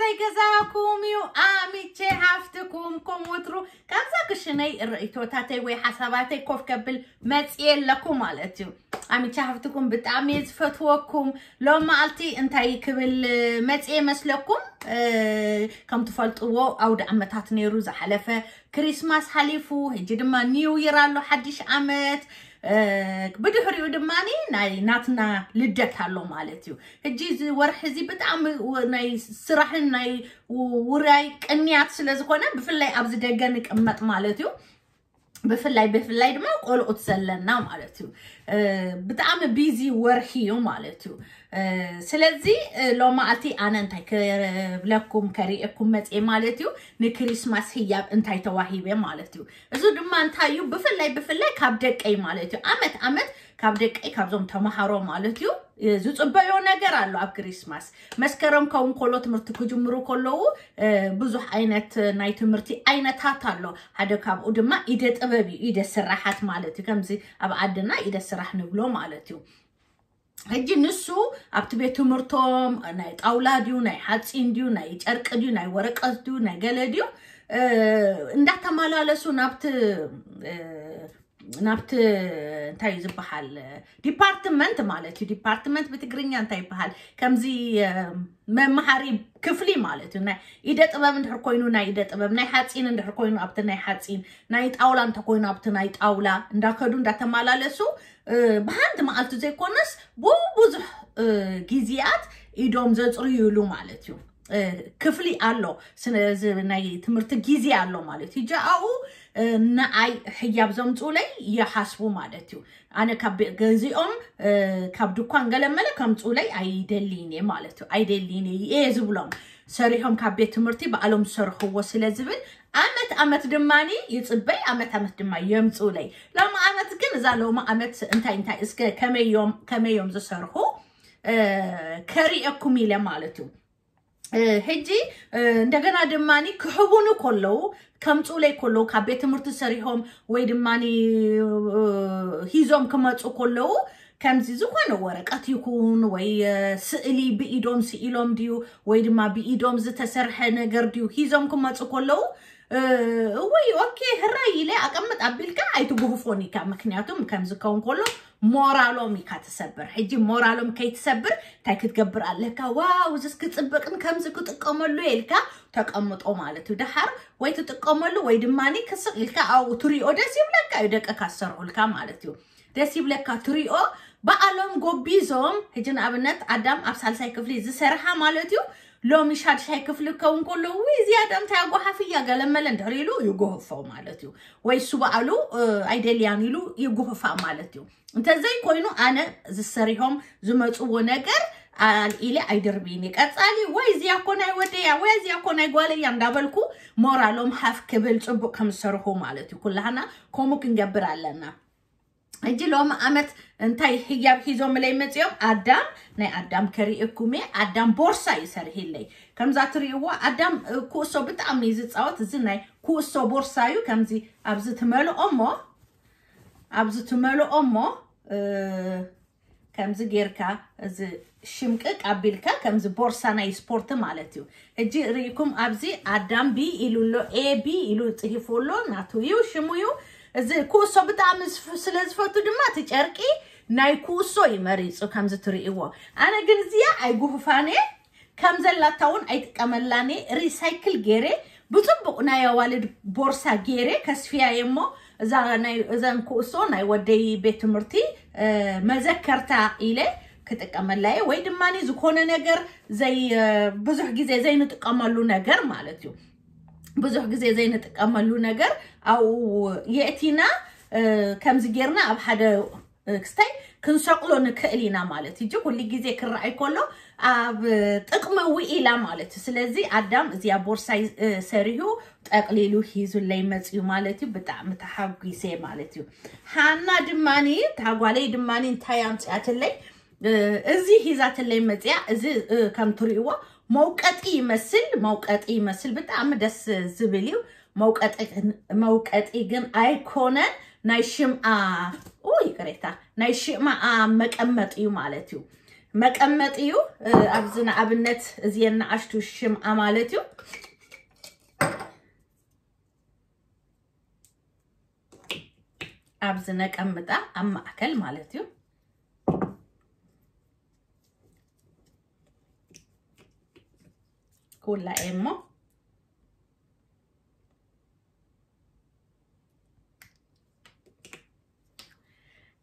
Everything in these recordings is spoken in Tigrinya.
ዘይገዛኩም እዩ ኣሚቼ ሃፍትኩም። ከም ወትሩ ካብዛ ክሽነይ ርእይቶታተይ ወይ ሓሳባተይ ኮፍ ከብል መፅየ ኣለኩ ማለት እዩ። ኣሚቼ ሃፍትኩም ብጣዕሚ እየ ዝፈትወኩም። ሎም መዓልቲ እንታይ ክብል መፅየ መስለኩም? ከም ትፈልጥዎ ኣውደ ዓመታት ነይሩ ዝሓለፈ፣ ክሪስማስ ሓሊፉ፣ ሕጂ ድማ ኒው ይር ኣሎ፣ ሓድሽ ዓመት። ብድሕሪኡ ድማ ናይ ናትና ልደት ኣሎ ማለት እዩ። ሕጂ እዚ ወርሒ እዚ ብጣዕሚ ናይ ስራሕን ናይ ውራይ ቅንያት ስለ ዝኾነ፣ ብፍላይ ኣብዚ ደገ ንቅመጥ ማለት እዩ። ብፍላይ ብፍላይ ድማ ቆልዑት ዘለና ማለት እዩ። ብጣዕሚ ቢዚ ወርሒ እዩ ማለት እዩ። ስለዚ ሎማዓልቲ ኣነ እንታይ ክብለኩም ከርእየኩም መፅየ ማለት እዩ፣ ንክሪስማስ ህያብ እንታይ ተዋሂበ ማለት እዩ። እዚ ድማ እንታይ እዩ? ብፍላይ ብፍላይ ካብ ደቀይ ማለት እዩ። ኣመት ኣመት ካብ ደቀይ ካብዞም ተምሃሮ ማለት እዩ ዝፅበዮ ነገር ኣሎ። ኣብ ክሪስማስ መስከረም ከውን ከሎ ትምህርቲ ክጅምሩ ከለዉ ብዙሕ ዓይነት ናይ ትምህርቲ ዓይነታት ኣሎ። ሓደ ካብኡ ድማ ኢደ ጥበብ እዩ፣ ኢደ ስራሓት ማለት እዩ። ከምዚ ኣብ ዓድና ኢደ ስራሕ ንብሎ ማለት እዩ። ሕጂ ንሱ ኣብቲ ቤት ትምህርቶም ናይ ጣውላ ድዩ፣ ናይ ሓፂን ድዩ፣ ናይ ጨርቂ ድዩ፣ ናይ ወረቀት ድዩ፣ ናይ ገለ ድዩ እንዳተመላለሱ ናብቲ ናብቲ እንታይ እዩ ዝበሃል ዲፓርትመንት ማለት እዩ። ዲፓርትመንት ብትግርኛ እንታይ ይበሃል? ከምዚ መምሃሪ ክፍሊ ማለት እዩ። ናይ ኢደ ጥበብ እንድሕር ኮይኑ ናይ ኢደ ጥበብ፣ ናይ ሓፂን እንድሕር ኮይኑ ኣብቲ ናይ ሓፂን፣ ናይ ጣውላ እንተኮይኑ ኣብቲ ናይ ጣውላ እንዳከዱ እንዳተመላለሱ ብሓንቲ መዓልቲ ዘይኮነስ ብብዙሕ ግዜያት ኢዶም ዘፅርዩሉ ማለት እዩ። ክፍሊ ኣሎ፣ ናይ ትምህርቲ ግዜ ኣሎ ማለት እዩ። ጃኣኡ ንዓይ ሕያብ ዘምፁለይ ይሓስቡ ማለት እዩ። ኣነ ካብ ገዚኦም ካብ ድኳን ገለመለ ከምፁለይ ኣይደልይን እየ ማለት እዩ። ኣይደልይን እየ ዝብሎም፣ ሰሪሖም ካብ ቤት ትምህርቲ ባዕሎም ዝሰርሕዎ ስለ ዝብል ኣመት ኣመት ድማ ይፅበይ፣ ኣመት ኣመት ድማ የምፁለይ። ሎም ኣመት ግን እዛ ሎም ኣመት እንታይ እንታይ እስከ ከመዮም ከመዮም ዝሰርሑ ከርእየኩም ኢለ ማለት እዩ። ሕጂ እንደገና ድማ ክህቡኑ ከለዉ ከምፁለይ ከለዉ ካብ ቤት ትምህርቲ ሰሪሖም ወይ ድማ ሂዞም ክመፁ ከለዉ ከምዚ ዝኾነ ወረቀት ይኩን ወይ ስእሊ ብኢዶም ስኢሎም ድዩ ወይ ድማ ብኢዶም ዝተሰርሐ ነገር ድዩ ሂዞም ክመፁ ከለዉ እወይ ኦኬ ህራይ ኢለ ኣቀምጥ ኣቢልካ ኣይትጉህፎን ኢካ። ምክንያቱም ከምዚ ከውን ከሎ ሞራሎም ኢካ ትሰብር። ሕጂ ሞራሎም ከይትሰብር እንታይ ክትገብር ኣለካ? ዋው እዚስ ክፅብቅን ከምዚ ክጥቀመሉ ኢልካ ተቀምጦ ማለት እዩ። ደሓር ወይ ትጥቀመሉ ወይ ድማ ክስቅ ኢልካ ኣብኡ ትሪኦ ደስ ይብለካ እዩ። ደቅካ ዝሰርሑልካ ማለት እዩ። ደስ ይብለካ ትሪኦ። በዓሎም ጎቢዞም ሕጂ ንኣብነት ኣዳም ኣብ ሳልሳይ ክፍሊ ዝሰርሓ ማለት እዩ። ሎሚ ሻድሻይ ክፍሊ ክከውን ከሎ ውይ ዝያዳ እንታይ ኣጓሓፍያ ገለመለ እንድሕር ኢሉ ይጉህፎ ማለት እዩ። ወይ እሱ በዓሉ ኣይደልያን ኢሉ ይጉህፋ ማለት እዩ። እንተዘይኮይኑ ኣነ ዝሰሪሖም ዝመፅዎ ነገር ኣልኢለ ኣይድርብይን እየ። ቀፃሊ ወይ እዚያ እኮ ናይ ወደያ ወይ እዚያ እኮ ናይ ጓለያ እንዳበልኩ ሞራሎም ሃፍ ክብል ፅቡቅ ከም ዝሰርሑ ማለት እዩ። ኩላህና ከምኡ ክንገብር ኣለና። ሕጂ ሎም ኣመት እንታይ ህያብ ሒዞምለይ መፂኦም? ኣዳም ናይ ኣዳም ከርእየኩም እየ። ኣዳም ቦርሳ እዩ ሰሪሕለይ። ከምዛ ትርእይዎ ኣዳም ኩእሶ ብጣዕሚ እዩ ዝፃወት። እዚ ናይ ኩእሶ ቦርሳ እዩ። ከምዚ ኣብዚ ትመልኦ እሞ ኣብዚ ትመልኦ እሞ ከምዚ ጌርካ እዚ ሽምቅቅ ኣቢልካ ከምዚ ቦርሳ ናይ ስፖርት ማለት እዩ። ሕጂ ርኢኩም ኣብዚ ኣዳም ቢ ኢሉ ኣሎ፣ ኤ ቢ ኢሉ ፅሂፉ ኣሎ፣ ናቱ እዩ ሽሙ እዩ። እዚ ኩእሶ ብጣዕሚ ስለ ዝፈቱ ድማ እቲ ጨርቂ ናይ ኩእሶ እዩ መሪፁ ከምዚ ትርእይዎ። ኣነ ግን እዚኣ ኣይጉህፋን እየ። ከም ዘላታ እውን ኣይጥቀመላን እየ። ሪሳይክል ገይረ ብፅቡቅ ናይ ኣዋልድ ቦርሳ ገይረ ከስፍያ እየ እሞ እዛ ናይ እዘን ኩእሶ ናይ ወደይ ቤት ትምህርቲ መዘከርታ ኢለ ክጥቀመላ እየ። ወይ ድማ ዝኾነ ነገር ዘይ ብዙሕ ግዜ ዘይንጥቀመሉ ነገር ማለት እዩ። ብዙሕ ግዜ ዘይንጥቀመሉ ነገር ኣብኡ የእቲና ከምዚ ጌርና ኣብ ሓደ ክስታይ ክንሰቅሎ ንክእል ኢና ማለት እዩ። ኩሉ ግዜ ክረኣይ ከሎ ኣብ ጥቅሚ ውዒላ ማለት እዩ። ስለዚ ኣዳም እዚኣ ቦርሳይ ሰሪሁ ጠቅሊሉ ሂዙለይ መፅዩ ማለት እዩ። ብጣዕሚ ተሓጒሰ ማለት እዩ። ሃና ድማኒ ታጓለይ ድማኒ እንታይ ኣምፅኣትለይ እዚ ሂዛትለይ መፅያ። እዚ ከም ትሪእዎ መውቀጢ ይመስል፣ መውቀጢ ይመስል ብጣዕሚ ደስ ዝብል እዩ። መውቀጢ ግን ኣይኮነን፣ ናይ ሽምዓ ይቅሬታ ናይ ሽምዓ መቀመጢ እዩ ማለት እዩ። መቀመጢ እዩ። ኣብዚ ንኣብነት እዚየን ንኣሽቱ ሽምዓ ማለት እዩ። ኣብዚ ነቀምጣ ኣብ ማእከል ማለት እዩ። ኩላ እሞ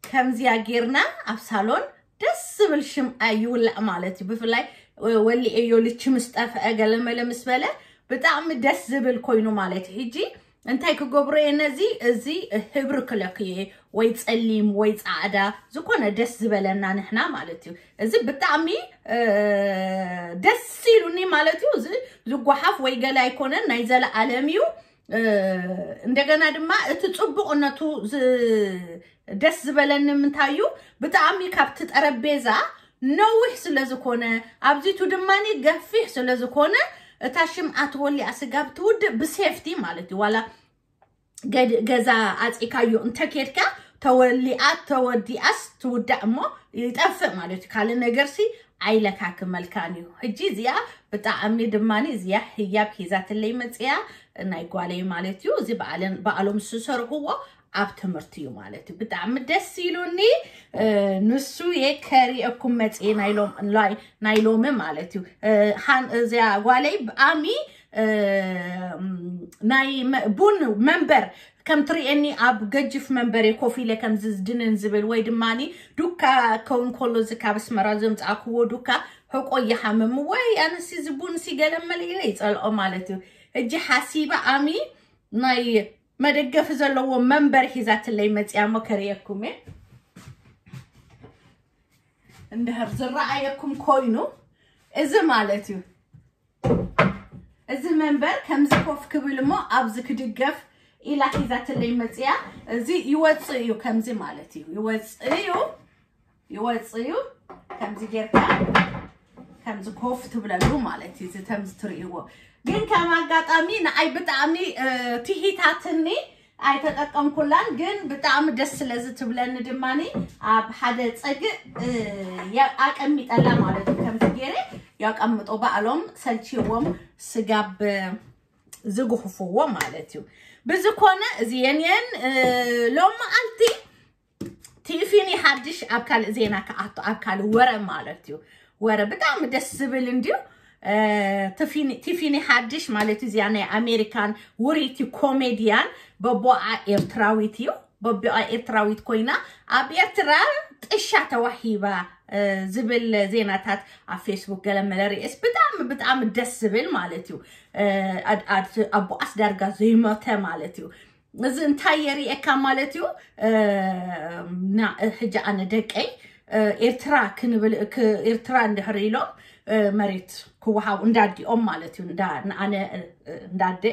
ከምዚያ ጌርና ኣብ ሳሎን ደስ ዝብል ሽምዓ ይውላዕ ማለት እዩ። ብፍላይ ወሊኤዮ ልቺ ምስ ጠፍአ ገለመለ ምስ በለ ብጣዕሚ ደስ ዝብል ኮይኑ ማለት እዩ። ሕጂ እንታይ ክገብሮ እየ ነዚ? እዚ ህብሪ ክለክዮ እየ፣ ወይ ጸሊም ወይ ጻዕዳ ዝኾነ ደስ ዝበለና ንሕና ማለት እዩ። እዚ ብጣዕሚ ደስ ኢሉኒ ማለት እዩ። እዚ ዝጓሓፍ ወይ ገለ ኣይኮነን፣ ናይ ዘለኣለም እዩ። እንደገና ድማ እቲ ጽቡቕነቱ ደስ ዝበለኒ ምንታይ እዩ? ብጣዕሚ ካብቲ ጠረጴዛ ነዊሕ ስለ ዝኾነ፣ ኣብዚቱ ድማ ገፊሕ ስለ ዝኾነ፣ እታ ሽምዓ ተወሊዓ ስጋብ ትውድእ ብሴፍቲ ማለት እዩ። ዋላ ገዛ ኣፂካዮ እንተኬድካ ተወሊኣ ተወዲኣስ ትውዳእ እሞ ይጠፍእ ማለት እዩ። ካልእ ነገርሲ ኣይለካክመልካን እዩ። ሕጂ እዚኣ ብጣዕሚ ድማ እዚኣ ህያብ ሒዛትለይ መፅያ ናይ ጓለይ ማለት እዩ። እዚ በዓሎም ዝሰርሕዎ ኣብ ትምህርቲ እዩ ማለት እዩ። ብጣዕሚ ደስ ኢሉኒ። ንሱ የከሪአኩም መፅየ ናይ ሎሚ ማለት እዩ። እዚኣ ጓለይ ብኣሚ ናይ ቡን መንበር ከም ትርእየኒ ኣብ ገጅፍ መንበሬ ኮፍ ኢለ ከምዚ ድንን ዝብል ወይ ድማኒ ዱካ ከውን ከሎ እዚ ካብ ኣስመራ ዘምፃእክዎ ዱካ ሕቆ ይሓምም ወይ ኣነሲ እዚ ቡን ሲ ገለመለ ኢለ ይፀልኦ ማለት እዩ። እጂ ሓሲበ ኣሚ ናይ መደገፊ ዘለዎ መንበር ሒዛትለይ መፅያ እሞ ከርእየኩም እየ። እንድሕር ዝረኣየኩም ኮይኑ እዚ ማለት እዩ። እዚ መንበር ከምዚ ኮፍ ክብል እሞ ኣብዚ ክድገፍ ኢላ ሒዛትለይ መፅያ። እዚ ይወፅእ እዩ ከምዚ ማለት እዩ። ይወፅእ እዩ ይወፅእ እዩ። ከምዚ ጌርካ ከምዚ ኮፍ ትብለሉ ማለት እዩ። እዚ ከምዚ ትርእይዎ ግን ከም ኣጋጣሚ ንዓይ ብጣዕሚ ትሂታትኒ ኣይተጠቀምኩላን፣ ግን ብጣዕሚ ደስ ስለዚ ትብለኒ ድማኒ ኣብ ሓደ ፀግእ ኣቀሚጠላ ማለት እዩ። ከምዚ ገይረ ያቀምጦ ባዕሎም ሰልችዎም ስጋብ ዝጉሕፍዎ ማለት እዩ። ብዝኮነ እዚየን የን ሎም መዓልቲ ቲፊኒ ሓድሽ ኣብ ካልእ ዜና ክኣቱ ኣብ ካልእ ወረ ማለት እዩ። ወረ ብጣዕሚ ደስ ዝብል እንድዩ። ቲፊኒ ሓድሽ ማለት እዚኣ ናይ ኣሜሪካን ውሪቲ ኮሜድያን በቦኣ ኤርትራዊት እዩ። በቦኣ ኤርትራዊት ኮይና ኣብ ኤርትራ ጥሻ ተዋሂባ ዝብል ዜናታት ኣብ ፌስቡክ ገለ መለ ርእስ ብጣዕሚ ብጣዕሚ ደስ ዝብል ማለት እዩ። ኣቦኣስ ዳርጋ ዘይሞተ ማለት እዩ። እዚ እንታይ የርእየካ ማለት እዩ? ሕጂ ኣነ ደቀይ ኤርትራ ክንብል ኤርትራ እንድሕር ኢሎም መሬት ክወሃቡ እንዳዲኦም ማለት እዩ። ኣነ እንዳደ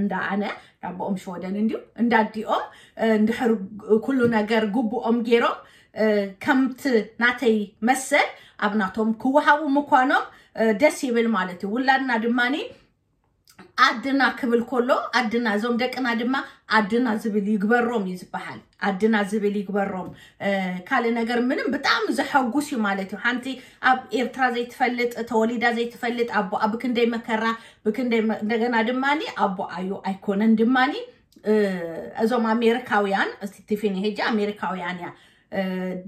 እንዳ ኣነ ኣቦኦም ሽወደን እንዲዩ እንዳዲኦም እንድሕር ኩሉ ነገር ግቡኦም ገይሮም ከምቲ ናተይ መሰል ኣብ ናቶም ክወሃቡ ምኳኖም ደስ ይብል ማለት እዩ። ውላድና ድማኒ ኣድና ክብል ከሎ ኣድና እዞም ደቅና ድማ ኣድና ዝብል ይግበሮም እዩ ዝበሃል። ኣድና ዝብል ይግበሮም። ካልእ ነገር ምንም ብጣዕሚ ዘሐጉስ እዩ ማለት እዩ። ሓንቲ ኣብ ኤርትራ ዘይትፈልጥ ተወሊዳ ዘይትፈልጥ ኣቦኣ ብክንደይ መከራ ብክንደይ እንደገና ድማኒ ኣቦኣዩ ኣይኮነን ድማኒ እዞም ኣሜሪካውያን ቲፊኒ ሕጂ ኣሜሪካውያን እያ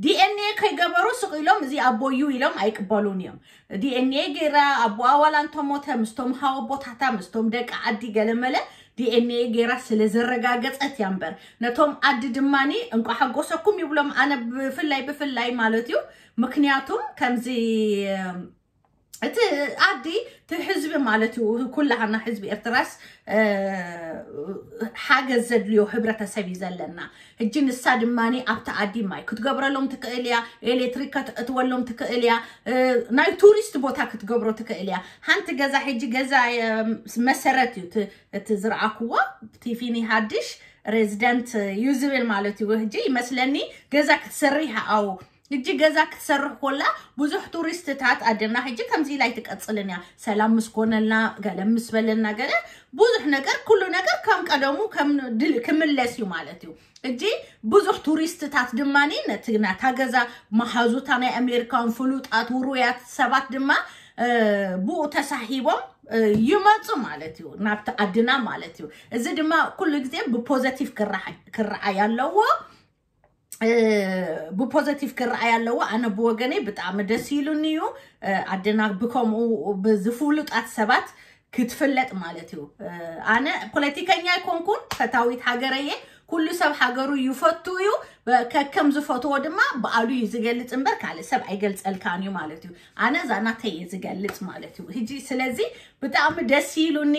ዲኤንኤ ከይገበሩ ስቕ ኢሎም እዚ ኣቦዩ ኢሎም ኣይቅበሉን እዮም። ዲኤንኤ ገይራ ኣቦኣ ዋላ እንተሞተ ምስቶም ሃወቦታታ ምስቶም ደቂ ዓዲ ገለመለ ዲኤንኤ ገይራ ስለ ዘረጋገፀት እያ እምበር ነቶም ዓዲ ድማኒ እንቋ ሓጎሰኩም ይብሎም። ኣነ ብፍላይ ብፍላይ ማለት እዩ ምክንያቱም ከምዚ እቲ ዓዲ እቲ ህዝቢ ማለት እዩ ኩላሃና ህዝቢ ኤርትራስ ሓገዝ ዘድልዮ ህብረተሰብ እዩ ዘለና። ሕጂ ንሳ ድማ ኣብቲ ዓዲ ማይ ክትገብረሎም ትክእል እያ፣ ኤሌክትሪክ ከተእትወሎም ትክእል እያ፣ ናይ ቱሪስት ቦታ ክትገብሮ ትክእል እያ። ሓንቲ ገዛ ሕጂ ገዛ መሰረት እዩ እቲ ዝረኣክዎ ቲፊኒ ሃድሽ ሬዚደንት እዩ ዝብል ማለት እዩ። ሕጂ ይመስለኒ ገዛ ክትሰርሕ ኣው ሕጂ ገዛ ክትሰርሕ ኮላ ብዙሕ ቱሪስትታት ኣደና ሕጂ ከምዚ ኢላ ኣይትቀጽልን እያ። ሰላም ምስ ኮነልና፣ ገለ ምስ በለልና፣ ገለ ብዙሕ ነገር፣ ኩሉ ነገር ከም ቀደሙ ከም ድል ክምለስ እዩ ማለት እዩ። ሕጂ ብዙሕ ቱሪስትታት ድማ ነቲ ናታ ገዛ መሃዙታ ናይ ኣሜሪካን ፍሉጣት ውሩያት ሰባት ድማ ብኡ ተሳሂቦም ይመፁ ማለት እዩ፣ ናብቲ ዓድና ማለት እዩ። እዚ ድማ ኩሉ ግዜ ብፖዘቲቭ ክረዓይ ኣለዎ። ብፖዘቲቭ ክረኣይ ኣለዎ። ኣነ ብወገነይ ብጣዕሚ ደስ ኢሉኒ እዩ። ኣደና ብከምኡ ብዝፍሉጣት ሰባት ክትፍለጥ ማለት እዩ። ኣነ ፖለቲከኛ ኣይኮንኩን፣ ፈታዊት ሃገረየ። ኩሉ ሰብ ሃገሩ ይፈቱ እዩ። ከከም ዝፈትዎ ድማ ብኣሉ እዩ ዝገልጽ እምበር ካልእ ሰብ ኣይገልጸልካን እዩ ማለት እዩ። ኣነ እዛ ናተይ እየ ዝገልጽ ማለት እዩ። ሕጂ ስለዚ ብጣዕሚ ደስ ኢሉኒ።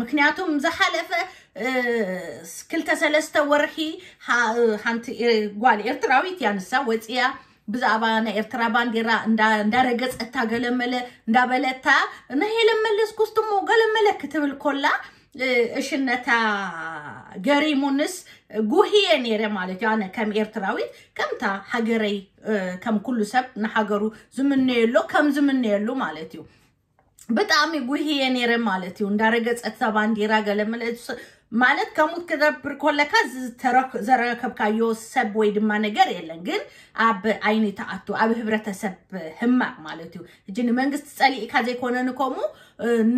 ምክንያቱም ዝሓለፈ ክልተ ሰለስተ ወርሒ ሓንቲ ጓል ኤርትራዊት እያ፣ ንሳ ወፂያ ብዛዕባ ናይ ኤርትራ ባንዲራ እንዳረገፀታ ገለመለ እንዳበለታ፣ ናይ ሄለን መለስ ኩስትሞ ገለመለ ክትብል ኮላ እሽነታ ገሪሙንስ ጉህየ ነይረ ማለት እዩ። ኣነ ከም ኤርትራዊት ከምታ ሃገረይ ከም ኩሉ ሰብ ንሃገሩ ዝምነየሎ ከም ዝምነየሉ ማለት እዩ። ብጣዕሚ ጉህየ ነይረ ማለት እዩ። እንዳረገፀት እታ ባንዲራ ገለ መለ ማለት ከምኡ ክትገብር ኮለካ ዝተረክ- ዘረከብካዮ ሰብ ወይ ድማ ነገር የለን። ግን ኣብ ዓይኒ ተኣቱ ኣብ ህብረተሰብ ህማቅ ማለት እዩ። እጂ ንመንግስቲ ጸሊእካ ዘይኮነ ንከምኡ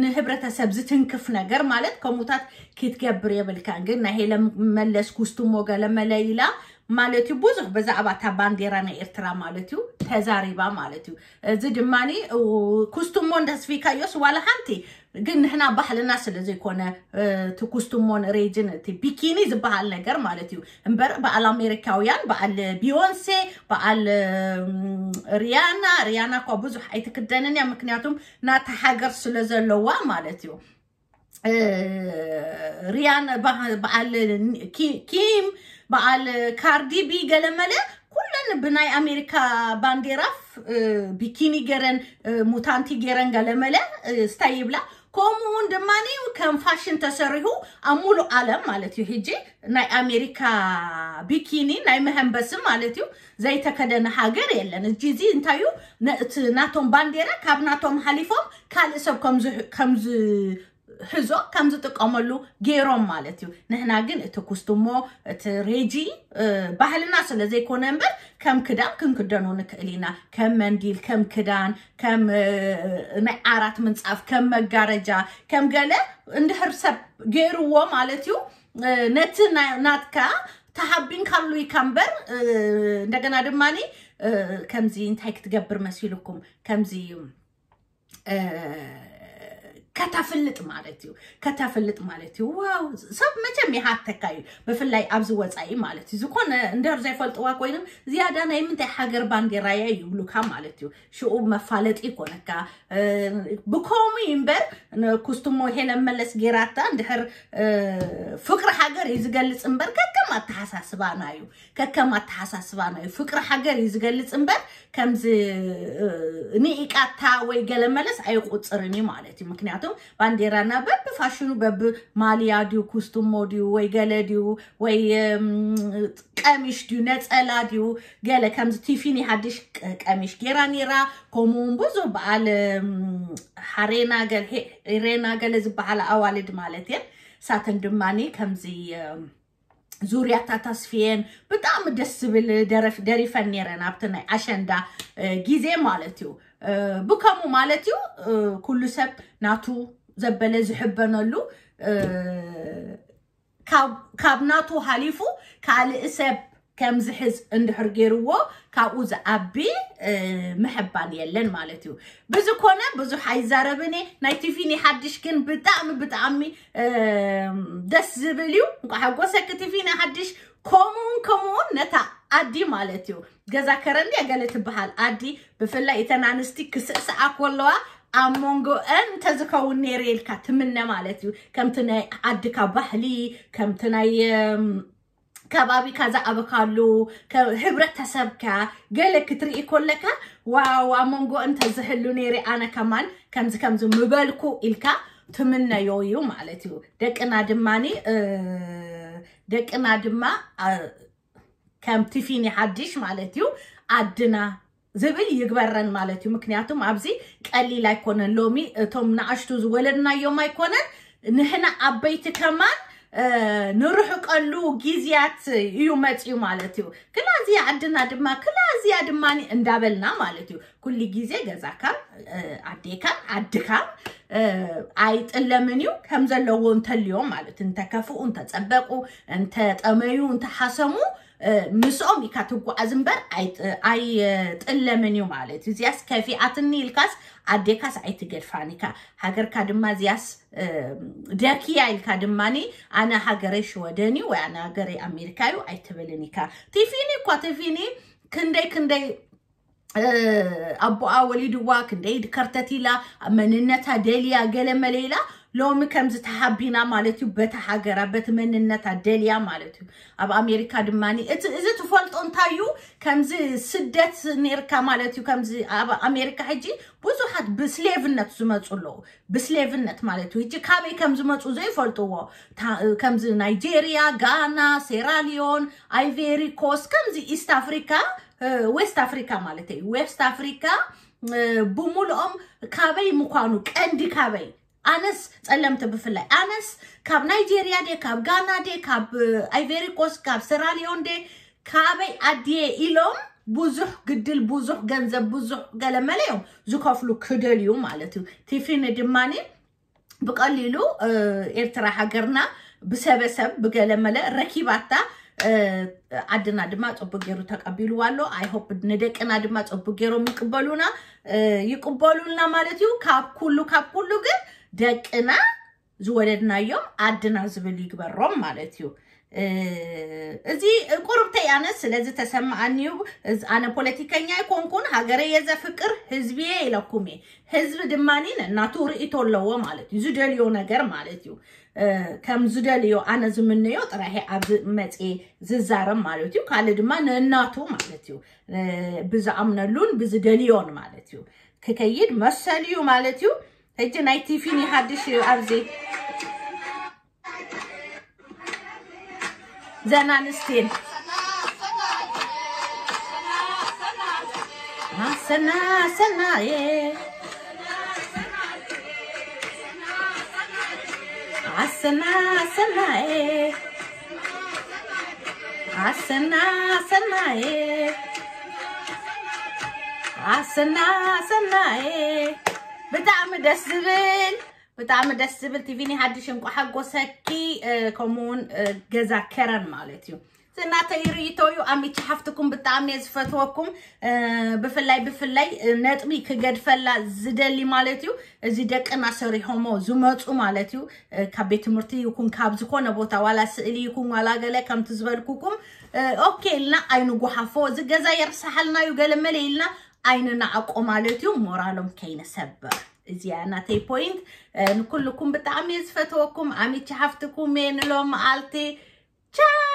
ንህብረተሰብ ዝትንክፍ ነገር ማለት ከምኡታት ክትገብር የብልካን። ግን ናይ ሄለ መለስ ኩስትሞ ገለ መለ ኢላ ማለት እዩ ብዙሕ ብዛዕባ እታ ባንዴራ ናይ ኤርትራ ማለት እዩ ተዛሪባ ማለት እዩ። እዚ ድማ ኩስትሞ እንዳስፊካዮስ ዋላ ሓንቲ ግን ንሕና ባህልና ስለ ዘይኮነ እቲ ኩስትሞን ሬጅን እቲ ቢኪኒ ዝበሃል ነገር ማለት እዩ እምበር በዓል ኣሜሪካውያን በዓል ቢዮንሴ በዓል ሪያና ሪያና እኳ ብዙሕ ኣይትክደንን እያ ምክንያቱም ናታ ሃገር ስለ ዘለዋ ማለት እዩ። ሪያን በዓል ኪም በዓል ካርዲቢ ገለመለ ኩለን ብናይ ኣሜሪካ ባንዴራ ቢኪኒ ገረን ሙታንቲ ገረን ገለመለ ስታይ ይብላ። ከምኡ እውን ድማ ከም ፋሽን ተሰሪሁ ኣብ ሙሉእ ዓለም ማለት እዩ። ሕጂ ናይ ኣሜሪካ ቢኪኒ ናይ መሀንበሲ ማለት እዩ ዘይተከደነ ሃገር የለን። እጂ እዚ እንታይ እዩ እቲ ናቶም ባንዴራ ካብ ናቶም ሓሊፎም ካልእ ሰብ ከም ሕዞ ከም ዝጥቀመሉ ገይሮም ማለት እዩ። ንሕና ግን እቲ ኩስትሞ እቲ ሬጂ ባህልና ስለ ዘይኮነ እምበር ከም ክዳን ክንክደኖ ንክእል ኢና። ከም መንዲል ከም ክዳን ከም ናይ ዓራት ምንፃፍ ከም መጋረጃ ከም ገለ እንድሕር ሰብ ገይርዎ ማለት እዩ ነቲ ናትካ ተሓቢንካሉ ኢካ እምበር እንደገና ድማ ከምዚ እንታይ ክትገብር መሲልኩም ከምዚ ከተፍልጥ ማለት እዩ። ከተፍልጥ ማለት እዩ። ዋው ሰብ መቸም ይሃተካ እዩ። ብፍላይ ኣብዚ ወፃኢ ማለት እዩ። ዝኾነ እንደር ዘይፈልጥዋ ኮይኖም ዝያዳ ናይ ምንታይ ሃገር ባንዴራ እያ ይብሉካ ማለት እዩ። ሽኡ መፋለጢ ይኮነካ። ብከምኡ እምበር ኩስትሞ ሄለን መለስ ጌራታ እንድሕር ፍቅሪ ሃገር እዩ ዝገልፅ እምበር ከከም ኣተሓሳስባና እዩ። ከከም ኣተሓሳስባና እዩ። ፍቅሪ ሃገር እዩ ዝገልፅ እምበር ከምዚ ንኢቃታ ወይ ገለ መለስ ኣይቁፅርን እዩ ማለት እዩ። ምክንያቱም ባንዴራና በቢ ፋሽኑ በቢ ማልያ ድዩ ኩስትሞ ድዩ ወይ ገለ ድዩ ወይ ቀሚሽ ድዩ ነፀላ ድዩ ገለ ከምዚ ቲፊኒ ሓድሽ ቀሚሽ ጌራ ነይራ። ከምኡውን ብዙ በዓል ሓሬና ገለ ዝበሃላ ኣዋልድ ማለት እየን። ሳተን ድማኒ ከምዚ ዙርያታት ኣስፍየን ብጣዕሚ ደስ ዝብል ደረፍ ደሪፈን ነይረን ኣብቲ ናይ ኣሸንዳ ግዜ ማለት እዩ። ብከምኡ ማለት እዩ ኩሉ ሰብ ናቱ ዘበለ ዝሕበነሉ ካብ ናቱ ሃሊፉ ካልእ ሰብ ከም ዝሕዝ እንድሕር ገይርዎ ካብኡ ዝዓቢ ምሕባን የለን ማለት እዩ። ብዝኮነ ብዙሕ ኣይዛረብን እየ። ናይ ቲፊኒ ሓድሽ ግን ብጣዕሚ ብጣዕሚ ደስ ዝብል እዩ። እንኳ ሓጎሰኪ ቲፊኒ ሓድሽ። ከምኡውን ከምኡውን ነታ ዓዲ ማለት እዩ ገዛ ከረን ድያ ገለ ትበሃል ዓዲ ብፍላይ እተን ኣንስቲ ክስዕስዓ ከለዋ ኣብ መንጎአን እንተዝከውን ነይረ ኢልካ ትምነ ማለት እዩ። ከምቲ ናይ ዓድካ ባህሊ ከምቲ ናይ ከባቢካ ዝኣበካሉ ህብረተሰብካ ገለ ክትርኢ ኮለካ ዋው ኣብ መንጎ እንተዝህሉ ነይረ ኣነ ከማን ከምዚ ከምዚ ምበልኩ ኢልካ ትምነዮ እዩ ማለት እዩ። ደቅና ድማኒ ደቅና ድማ ከም ቲፊኒ ሓድሽ ማለት እዩ። ኣድና ዝብል ይግበረን ማለት እዩ። ምክንያቱም ኣብዚ ቀሊል ኣይኮነን። ሎሚ እቶም ንኣሽቱ ዝወለድናዮም ኣይኮነን፣ ንሕና ኣበይቲ ከማን ንርሕቀሉ ግዜያት እዩ መፅዩ ማለት እዩ። ክላ እዚኣ ዓድና ድማ ክላ እዚኣ ድማ እንዳበልና ማለት እዩ። ኩሉ ግዜ ገዛካን ኣዴካን ዓድካን ኣይጥለምን እዩ። ከም ዘለዎ እንተልዮም ማለት እንተከፍኡ እንተፀበቁ እንተጠመዩ እንተሓሰሙ ምስኦም ኢካ ትጓዓዝ እምበር ኣይጥለምን እዩ ማለት እዩ። እዚያስ ከፊኣትኒ ኢልካስ ኣዴካስ ኣይትገድፋን ኢካ። ሃገርካ ድማ እዚያስ ደክያ ኢልካ ድማኒ ኣነ ሃገረይ ሽወደን እዩ ወይ ኣነ ሃገረይ ኣሜሪካ እዩ ኣይትብልን ኢካ። ቲፊኒ እኳ ቲፊኒ ክንደይ ክንደይ ኣቦኣ ወሊድዋ ክንደይ ከርተት ኢላ መንነታ ደልያ ገለ መለ ኢላ ሎሚ ከምዚ ተሃቢና ማለት እዩ። በቲ ሃገራ በቲ መንነታ ደልያ ማለት እዩ። ኣብ ኣሜሪካ ድማ እዚ ትፈልጦ እንታይ እዩ? ከምዚ ስደት ነርካ ማለት እዩ። ከምዚ ኣብ ኣሜሪካ ሕጂ ብዙሓት ብስሌቭነት ዝመፁ ኣለዉ። ብስሌቭነት ማለት እዩ። ሕጂ ካበይ ከም ዝመፁ ዘይፈልጥዎ ከምዚ ናይጄሪያ፣ ጋና፣ ሴራሊዮን፣ ኣይቬሪ ኮስት ከምዚ ኢስት ኣፍሪካ ዌስት ኣፍሪካ ማለት እዩ። ዌስት ኣፍሪካ ብሙሉኦም ካበይ ምኳኑ ቀንዲ ካበይ ኣነስ ፀለምቲ ብፍላይ ኣነስ ካብ ናይጄሪያ ደ ካብ ጋና ደ ካብ ኣይቬሪ ኮስት ካብ ሴራሊዮን ደ ካበይ ኣድየ ኢሎም ብዙሕ ግድል ብዙሕ ገንዘብ ብዙሕ ገለመለ እዮም ዝከፍሉ ክደልዩ ማለት እዩ። ቲፊኒ ድማኒ ብቀሊሉ ኤርትራ ሃገርና ብሰበሰብ ብገለመለ ረኪባታ ዓድና ድማ ፅቡቅ ገይሩ ተቀቢልዋ ኣሎ። ኣይሆፕ ንደቅና ድማ ፅቡቅ ገይሮም ይቅበሉና ይቅበሉልና ማለት እዩ። ካብ ኩሉ ካብ ኩሉ ግን ደቅና ዝወለድናዮም ዓድና ዝብል ይግበሮም ማለት እዩ። እዚ ቁርብተይ ኣነ ስለዚ ተሰማኣኒ እዩ። ኣነ ፖለቲከኛ ኣይኮንኩን፣ ሃገረ የዘፍቅር ህዝቢ እየ ኢለኩም እየ። ህዝቢ ድማ ነናቱ ርእይቶ ኣለዎ ማለት እዩ። ዝደልዮ ነገር ማለት እዩ። ከም ዝደልዮ ኣነ ዝምነዮ ጥራይ ኣብዚ መፅየ ዝዛረብ ማለት እዩ። ካልእ ድማ ነናቱ ማለት እዩ። ብዝኣምነሉን ብዝደልዮን ማለት እዩ። ክከይድ መሰል እዩ ማለት እዩ። ሕጂ ናይ ቲፊኒ ሓድሽ እዩ ኣብዚ ዘናንስቲን ኣሰና ሰናየ ኣሰና ሰናየ ኣሰና ሰናየ ኣሰና ሰናየ ብጣዕሚ ደስ ዝብል ብጣዕሚ ደስ ዝብል። ቲቪኒ ሓድሽ እንቋ ሓጎሰኪ። ከምኡውን ገዛ ከረን ማለት እዩ። ዝናተይ ርእይቶ እዩ። ኣሚቺ ሓፍትኩም ብጣዕሚ እየ ዝፈትወኩም። ብፍላይ ብፍላይ ነጥቢ ክገድፈላ ዝደሊ ማለት እዩ። እዚ ደቅና ሰሪሖሞ ዝመፁ ማለት እዩ። ካብ ቤት ትምህርቲ ይኩን ካብ ዝኾነ ቦታ ዋላ ስእሊ ይኩን ዋላ ገለ ከምቲ ዝበልኩኩም ኦኬ ኢልና ኣይንጉሓፎ። እዚ ገዛ የርሳሓልና እዩ ገለ መለ ኢልና ኣይንናዓቆ ማለት እዩ። ሞራሎም ከይንሰብር እዚኣ ናተይ ፖይንት። ንኩልኩም ብጣዕሚ እየ ዝፈትወኩም። ኣሚቺ ሓፍትኩም እየ ንሎም መዓልቲ። ቻው።